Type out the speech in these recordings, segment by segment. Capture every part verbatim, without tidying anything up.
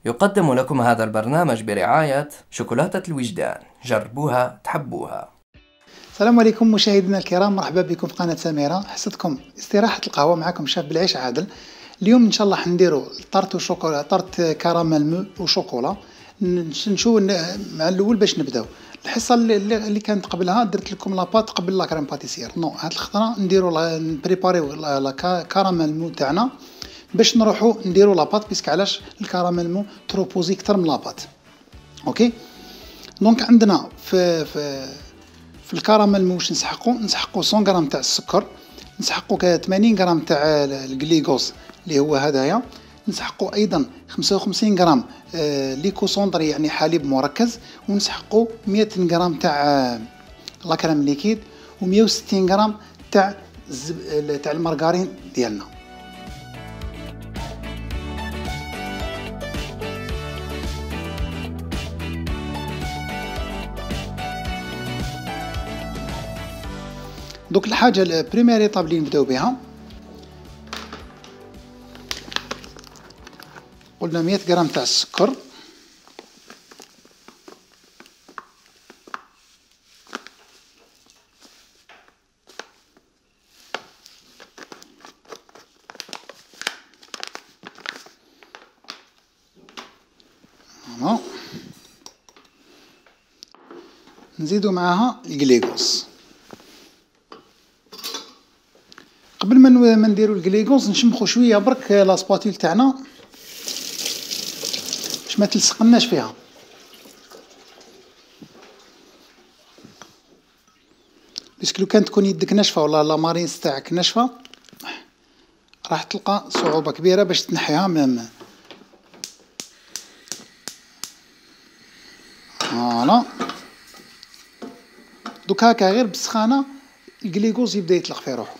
يقدم لكم هذا البرنامج برعاية شوكولاتة الوجدان، جربوها تحبوها. السلام عليكم مشاهدينا الكرام، مرحبا بكم في قناة سميرة. حصتكم استراحة القهوة، معكم شاف بالعيش عادل. اليوم ان شاء الله حنديروا طارت وشوكولا، طارت كراميل مو وشوكولا. نشوف مع الاول باش نبداو. الحصه اللي, اللي كانت قبلها درت لكم لاباط قبل لا كريم باتيسير. نو هاد الخطره نديروا نبريباريو لا كراميل مو تاعنا باش نروحوا نديروا لاباط، بيسك علاش الكراميل مو تروبوزي اكثر من لاباط. اوكي دونك عندنا في في في الكراميل مو واش نسحقوا نسحقوا مية غرام تاع السكر، نسحقوا ثمانين غرام تاع الجليكوز اللي هو هدايا، نسحقوا ايضا خمسة وخمسين غرام آه ليكوسوندري يعني حليب مركز، ونسحقوا مية غرام تاع آه لا كريم ليكيد، ومية وستين غرام تاع تاع المارغرين ديالنا. دوك الحاجه البريمير ايطاب اللي نبداو بها، قلنا مية غرام تاع السكر، نزيدو معاها الجليكوز. قبل ما نديرو الجليكوز نشمخو شويه برك لا سباتيل تاعنا باش ما تلصقناش فيها. باسكو لو كان تكون يدك ناشفه ولا لا مارينس تاعك ناشفه راح تلقى صعوبه كبيره باش تنحيها. مام فوالا دوك هكا غير بالسخانه الجليكوز يبدا يطلق في روحه.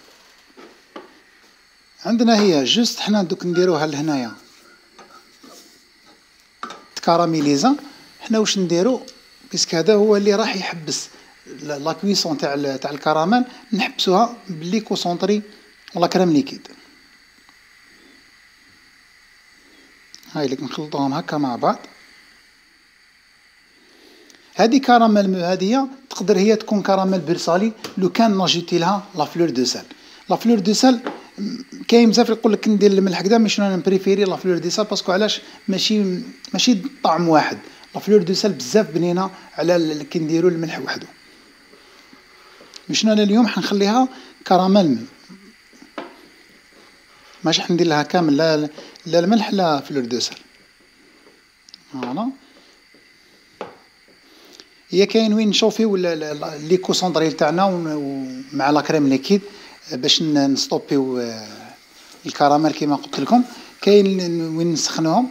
عندنا هي جوست حنا دوك نديروها لهنايا تكاراميليزا. حنا واش نديرو باسكو هذا هو اللي راح يحبس لا كويسون تاع تاع الكراميل، نحبسوها بالليكوسونطري ولا كريم ليكيد. هاي اللي نخلطوهم هكا مع بعض. هذه كراميل هذه تقدر هي تكون كراميل برسالي لو كان نجيتي لها لا فلور دو سال. لا فلور دو سال كاين بزاف يقول لك ندير الملح كدا، مش انا نبريفيري لا فلور دو سال باسكو علاش ماشي ماشي طعم واحد. لا فلور دو سال بزاف بنينه على كي نديروا الملح وحده. مش انا اليوم حنخليها كراميل، ماشي حندير لها كامل لا لا الملح لا فلور دو سال. فوالا هي كاين وين نشوفيو ليكوسوندري تاعنا ومع لا كريم ليكيد باش نستوبيو الكراميل كما قلت لكم. كاين وين نسخنوهم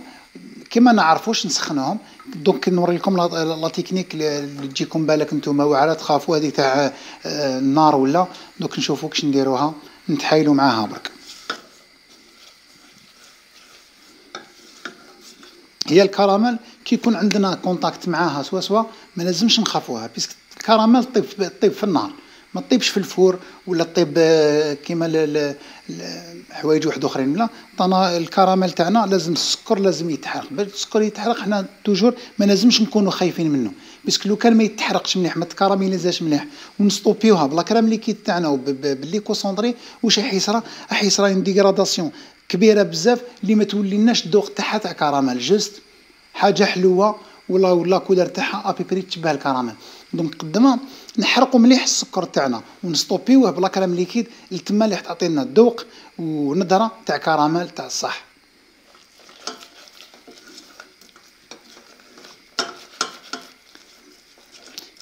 كما نعرفوش نسخنوهم. دونك نوري لكم لا تكنيك اللي تجيكم بالك نتوما واعره تخافوا هذيك تاع النار ولا. دوك نشوفوا كيش نديروها، نتحايلوا معاها برك. هي الكراميل كي يكون عندنا كونتاكت معاها سوا سوا ما لازمش نخافوها، باسكو الكراميل طيب طيب في النار، ما طيبش في الفور ولا طيب كيما حوايج واحد اخرين. لا طنا الكراميل تاعنا لازم السكر لازم يتحرق. باش السكر يتحرق حنا توجور ما لازمش نكونوا خايفين منه، باسكو لو كان ما يتحرقش مليح ما تكراميليزاش مليح ونستوبيوها بلا كريم ليكيد تاعنا وبالليكوسوندري، واش راح يصرى؟ راح يصرى اون ديغراداسيون كبيره بزاف اللي ما توليناش الذوق تاعها تاع كراميل، جوست حاجه حلوه ولا ولا كولر تاعها ابيبري تشبه الكراميل. دونك قدما نحرقوا مليح السكر تاعنا ونستوبيوه بلا كريم ليكيد التما اللي تعطينا الذوق ونظره تاع كراميل تاع الصح.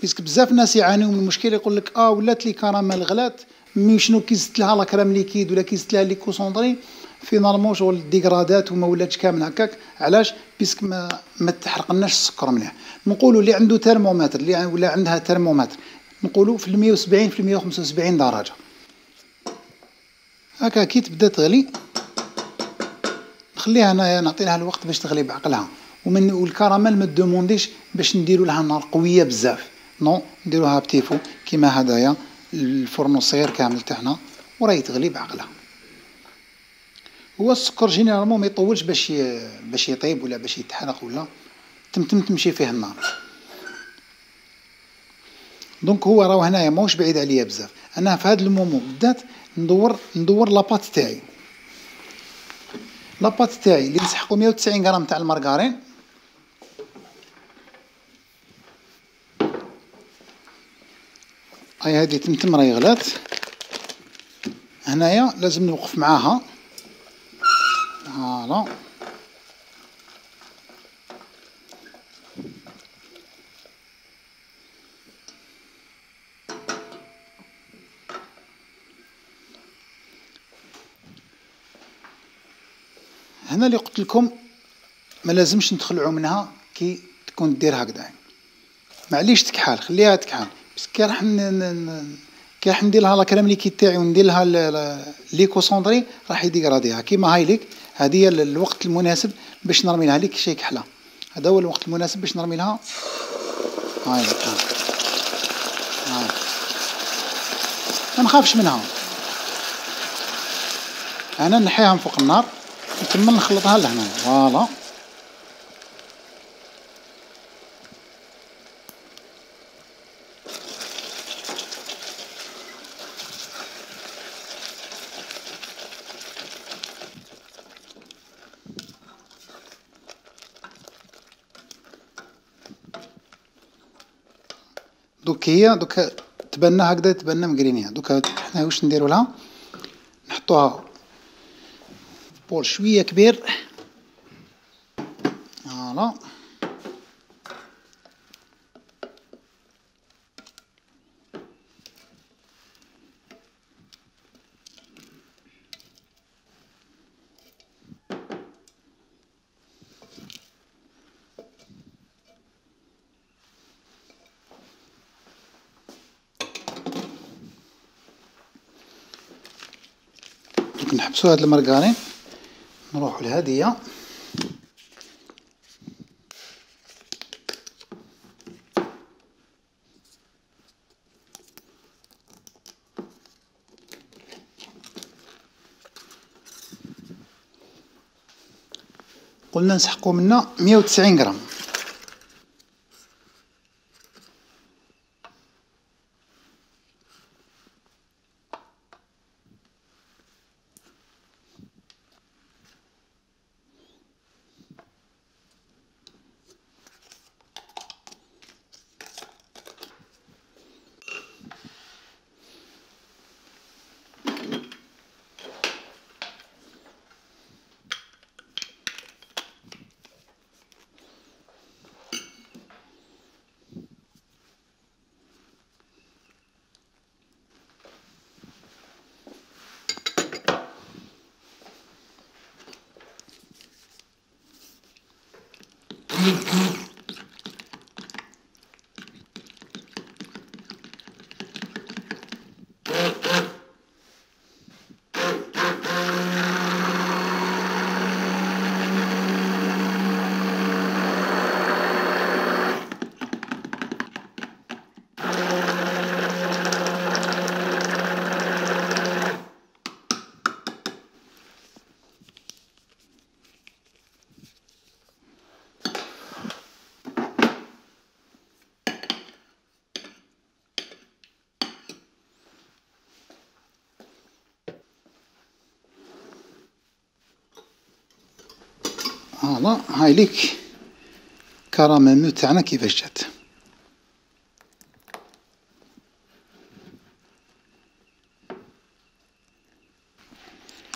باسكو بزاف ناس يعانيو من المشكل، يقول لك اه ولات لي كراميل غلات مي شنو كي زدت لها لا كريم ليكيد ولا كي زدت لها ليكوسوندري فينالمون شغل ديغرادات وما ولاتش كامل هكاك. علاش؟ باسكو ما ما تحرقناش السكر مليح. نقولوا اللي عنده ترمومتر اللي ولا عندها ترمومتر نقولوا في مية وسبعين في مية وخمسة وسبعين درجه هكا. كي تبدا تغلي نخليها انا نعطي لها الوقت باش تغلي بعقلها. ومن والكراميل ما دومونديش باش نديروا لها نار قويه بزاف، نو نديروها بتيفو كيما هدايا الفرن الصغير كامل تاعنا وراهي تغلي بعقلها. هو السكر جينيرالمون ما يطولش باش ي... باش يطيب ولا باش يتحرق ولا تمتم تمشي فيه النار. دونك هو راه هنايا ماهوش بعيد عليا بزاف. انا في هذا المومون بالذات ندور ندور لاباط تاعي. لاباط تاعي اللي نسحقو مية وتسعين غرام تاع المارغرين، هاي هذه تمتم راهي غلات. هنايا لازم نوقف معاها فوالا. هنا اللي قلت لكم ما لازمش ندخلعوا منها كي تكون دير هكذا، معليش تكحال خليها تكحال. بس كي راح كي راح ندير لها الكريم ليكيد تاعي وندير لها ليكوسوندري راح يديغراديها. كيما هاي ليك هذه هي الوقت المناسب باش نرمي لها ليك شي كحله. هذا هو الوقت المناسب باش نرمي لها. هاي ليك هاي ما نخافش منها. انا نحيها من فوق النار نكمل نخلطها لهنا فوالا. دوك هي دوك تبنى هكذا تبنى مقرينيها. دوك حنا واش نديرو لها، نحطوها في بول شويه كبير فوالا. نحبسو هاد المرقارين نروحو لهادية. قلنا نسحقو منا مية وتسعين غرام. فوالا هاي ليك كراميل تاعنا كيفاش جات.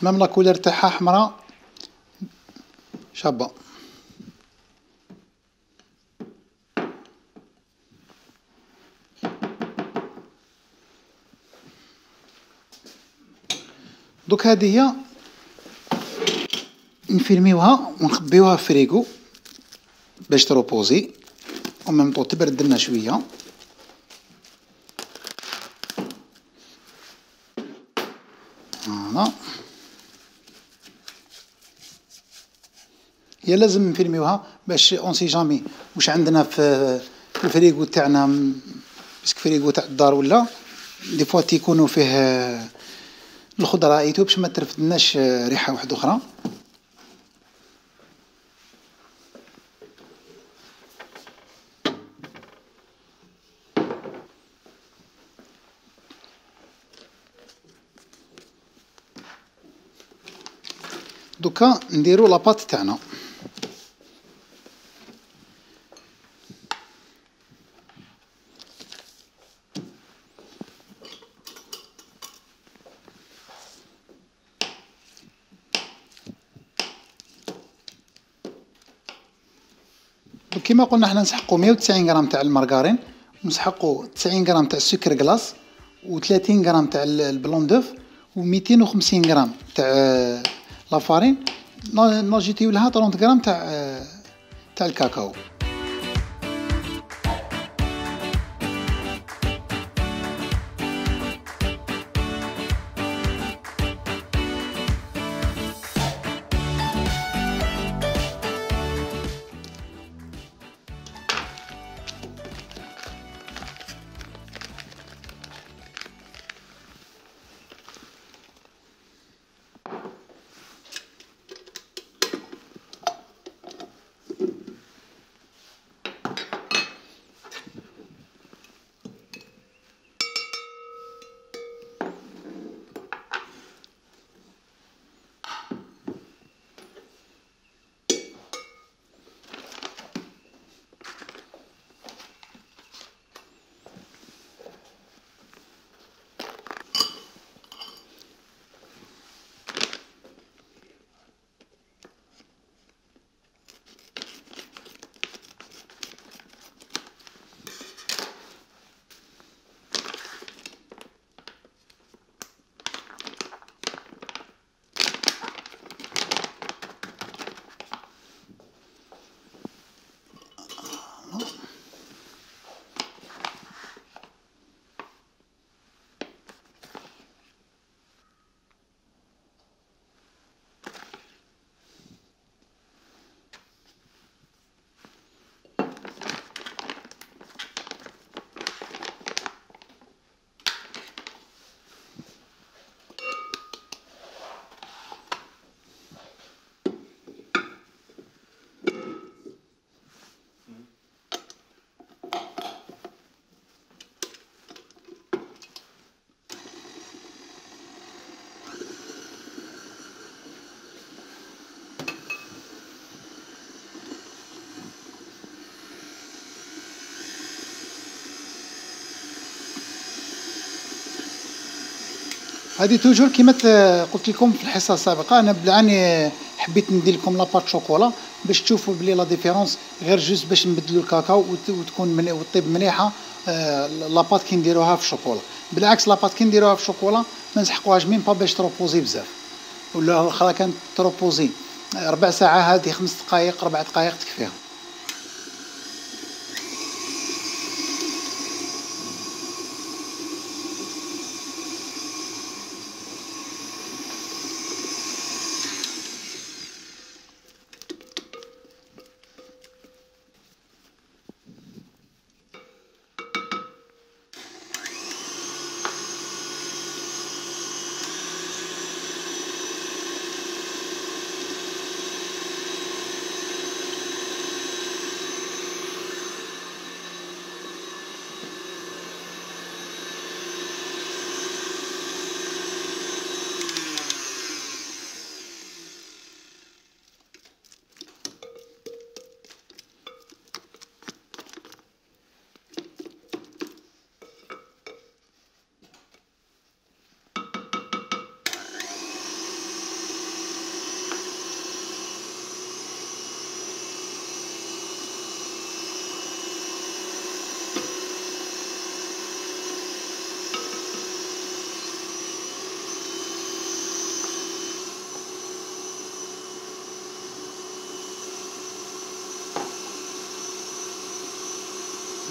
مام لا كولير تاعها حمراء شابة. دوك هذه هي نفيرميوها ونخبيوها في فريغو باش تروبوزي وميم طو تبرد لنا شويه. فوالا هي لازم نفيرميوها باش اون سي جامي واش عندنا في الفريغو تاعنا، باسكو فريغو تاع الدار ولا دي فوا تيكونوا فيه الخضره ايتو باش ما ترفدناش ريحه واحده اخرى. دوكا نديرو لاباط تاعنا. كما قلنا حنا نسحقو مية وتسعين غرام تاع المارغرين، ونسحقو تسعين غرام تاع السكر كلاص، و30 غرام تاع البلون دوف، و250 غرام تاع لافارين، ناجيتيو لها ثلاثين غرام تاع تاع الكاكاو. هذه توجور كيما قلت لكم في الحصه السابقه، انا بالعاني حبيت ندير لكم لاباط شوكولا باش تشوفوا بلي لا ديفيرونس غير جوست باش نبدلوا الكاكاو وتكون من وطيب مليحه لاباط كي نديروها في الشوكولا. بالعكس لاباط كي نديروها في الشوكولا ما نسحقوهاش ميم با باش تروبوزي بزاف، ولا الاخرى كانت تروبوزي ربع ساعه، هذه خمس دقائق ربع دقائق تكفيها.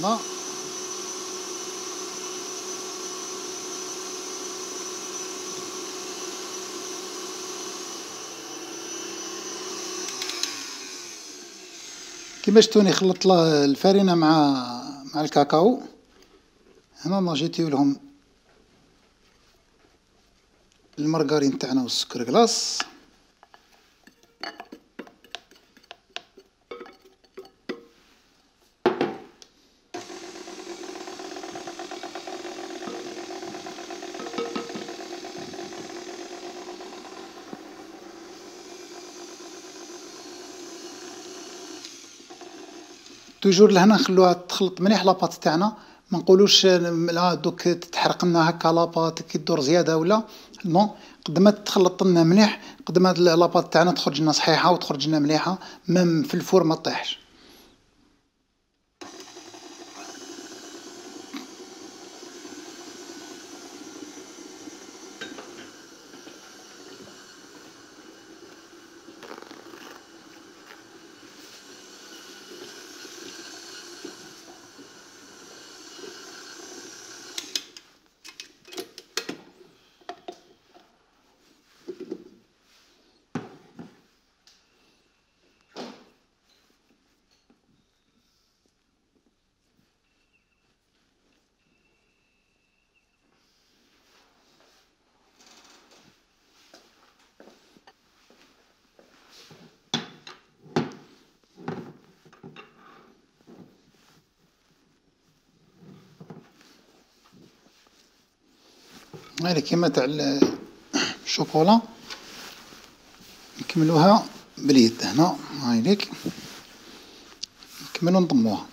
لا كيما شفتوني خلطت الفرينه مع مع الكاكاو. هنا نجيتيو لهم المارغرين تاعنا والسكر كلاص. توجور لهنا نخلوها تخلط مليح لاباط تاعنا، ما نقولوش لا دوك تتحرق لنا هكا لاباط كي تدور زياده ولا نو، قد ما تخلط لنا مليح قد ما لاباط تاعنا تخرج لنا صحيحه وتخرج لنا مليحه، ميم في الفور ما طيحش. هذه كيما تاع الشوكولا نكملوها باليد هنا، هايليك نكملو نضموها.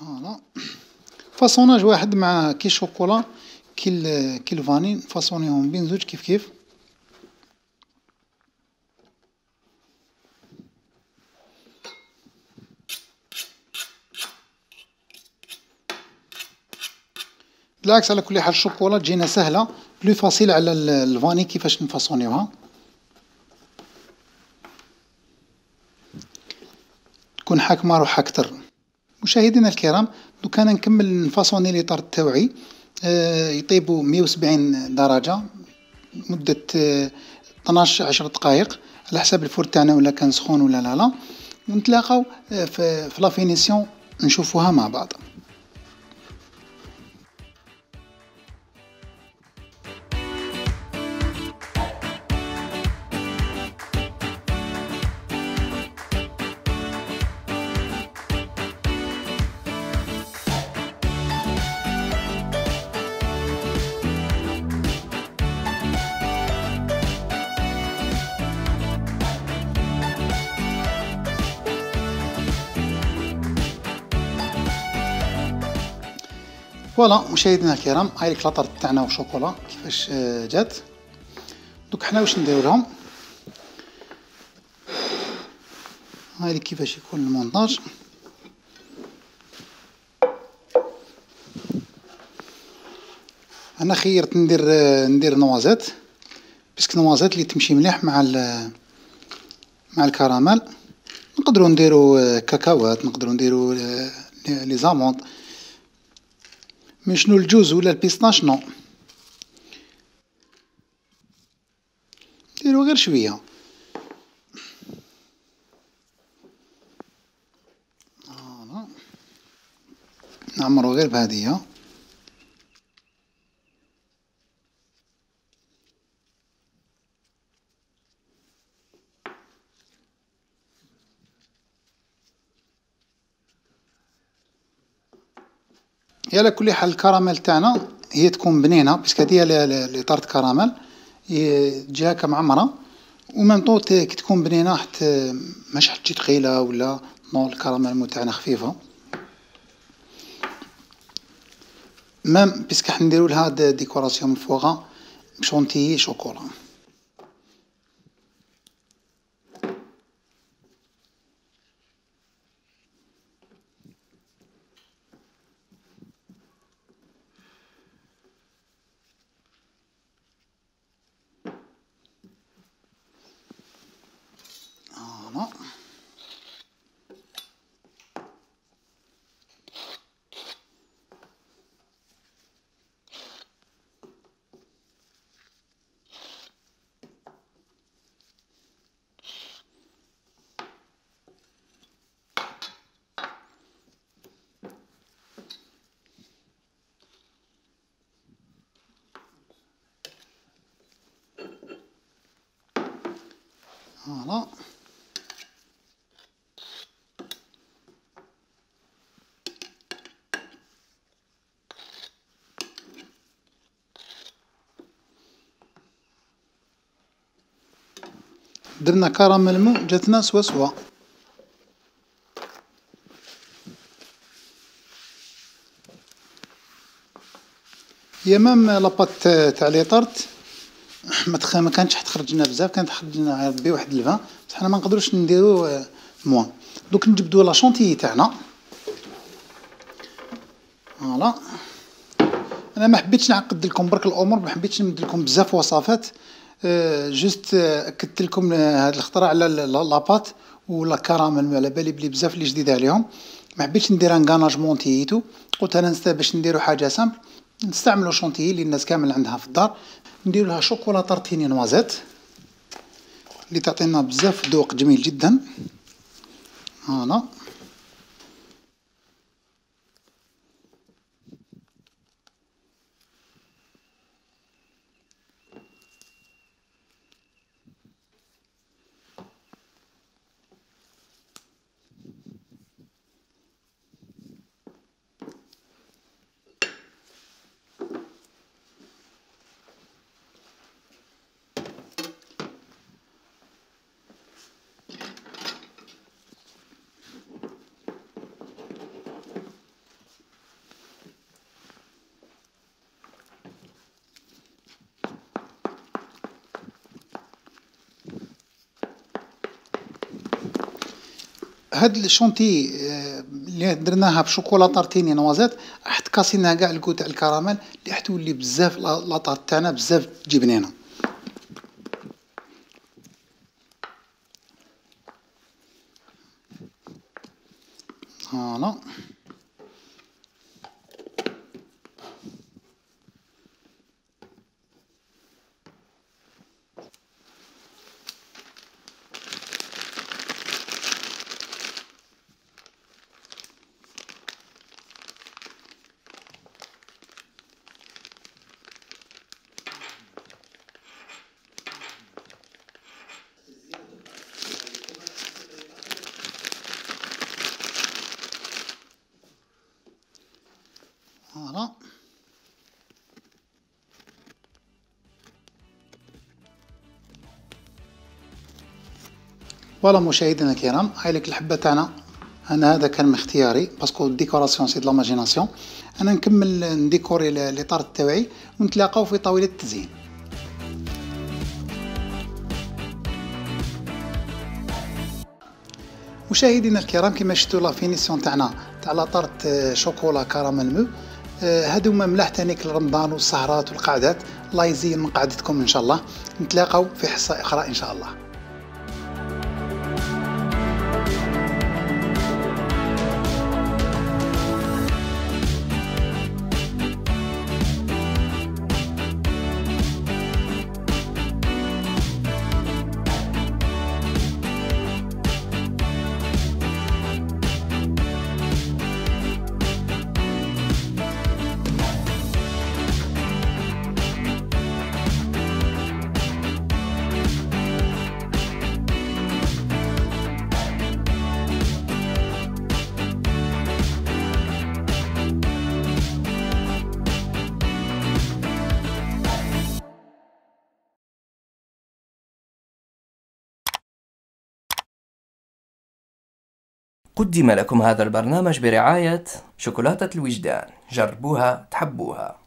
فوالا فاصوناج واحد مع كي الشوكولا كي كي الفاني، نفاصونيهم بين زوج كيف كيف. بالعكس على كل حال الشوكولا تجينا سهله بلو فاسيل على الفاني كيفاش نفاصونيوها، تكون حاكمه روحها اكثر. مشاهدينا الكرام دوك انا نكمل نفاصوني لي طارت تاوعي، آه يطيبوا مية وسبعين درجه مده آه اثناش عشر دقائق على حسب الفور تاعنا ولا كان سخون ولا لا لا، ونتلاقاو آه في, في لا فينيسيون نشوفوها مع بعض. فوالا مشاهدينا الكرام، هاي ليك لاطارت تاعنا وشوكولا كيفاش جات. دوك حنا واش نديرو لهم، هاي ليك كيفاش يكون المونتاج. انا خيرت ندير ندير نوازات باسكو نوازات اللي تمشي مليح مع مع الكراميل. نقدروا نديروا كاكاوات، نقدروا نديروا لي زاموند، مي شنو الجوز ولا البيستاش نو، نديرو غير شويه. نديرو غير بهادية. هي على كل حال الكراميل تاعنا هي تكون بنينه باسكو هادي هي لي طارت كراميل تجي هكا معمره وميم طون كي تكون بنينه حتى ماشي حتى تجي ثقيله ولا نو. الكراميل تاعنا خفيفه ميم باسكو حنديرو لها ديكوراسيون من فوقها بشونتيي شوكولا. فوالا فوالا درنا كراميل مو جاتنا سوا سوا. هي مام لاباط تاع لي طارت ما تخ... ما كانتش تخرج لنا بزاف، كانت تخرج لنا ربي واحد الفان، بصح حنا ما نقدروش نديرو موان. دوك نجبدو لا شونتيي تاعنا. فوالا انا ما حبيتش نعقد لكم برك الامور، ما حبيتش نمد لكم بزاف وصفات، أه جست اكدت لكم هذا الاختراع على لاباط ولا كراميل، على بالي بلي بزاف اللي جديد عليهم. ما حبيتش ندير ان غاناجمون تيتو، قلت انا نستا باش نديرو حاجه سامبل نستعملوا شونتيي اللي الناس كامل عندها في الدار، نديرو لها شوكولا طارتيني نوازيت اللي تعطينا بزاف ذوق جميل جدا. فوالا هاد الشونتي اللي درناها بشوكولا طارتيني نوازيت راح تكاسينا كاع الكو تاع الكراميل اللي راح تولي بزاف لا طارت تاعنا بزاف تجي بنينه. فوالا فوالا فوالا مشاهدينا الكرام، هاي لك الحبه تاعنا. انا هذا كان من اختياري باسكو الديكوراسيون سي دو لاماجيناسيون. انا نكمل نديكوري لي طارت تاوعي ونتلاقاو في طاوله التزيين. مشاهدينا الكرام، كما شفتوا لا فينيسيون تاعنا تاع لا طارت شوكولا كراميل مو، هادو هما ملاح تانيك لرمضان والسهرات والقعدات. الله يزين من قعدتكم ان شاء الله. نتلاقاو في حصه اخرى ان شاء الله. قدم لكم هذا البرنامج برعاية شوكولاتة الوجدان، جربوها تحبوها.